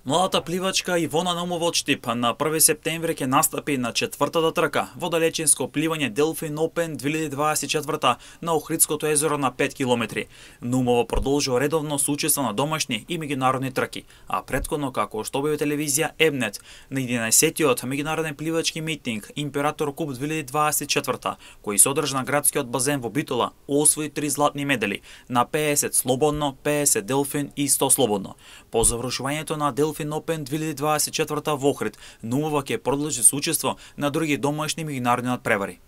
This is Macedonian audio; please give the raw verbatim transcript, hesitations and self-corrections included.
Младата пливачка Ивона Наумова од Штип на први септември ќе настапи на четвртата трка во далечинско пливање Delfin Open две илјади дваесет и четврта на Охридското езеро на пет километри. Наумова продолжува редовно со учество на домашни и меѓународни трки, а претходно, како што објави телевизија Ебнет, на единаесеттиот меѓународен пливачки митинг Император Куп две илјади дваесет и четврта, кој се одржа на градскиот базен во Битола, освои три златни медали на пеесет слободно, пеесет делфин и сто слободно. По завршувањето на Delfin Open две илјади дваесет и четврта во Охрид, Наумова ќе продолжи со учество на други домашни меѓународни надпревари.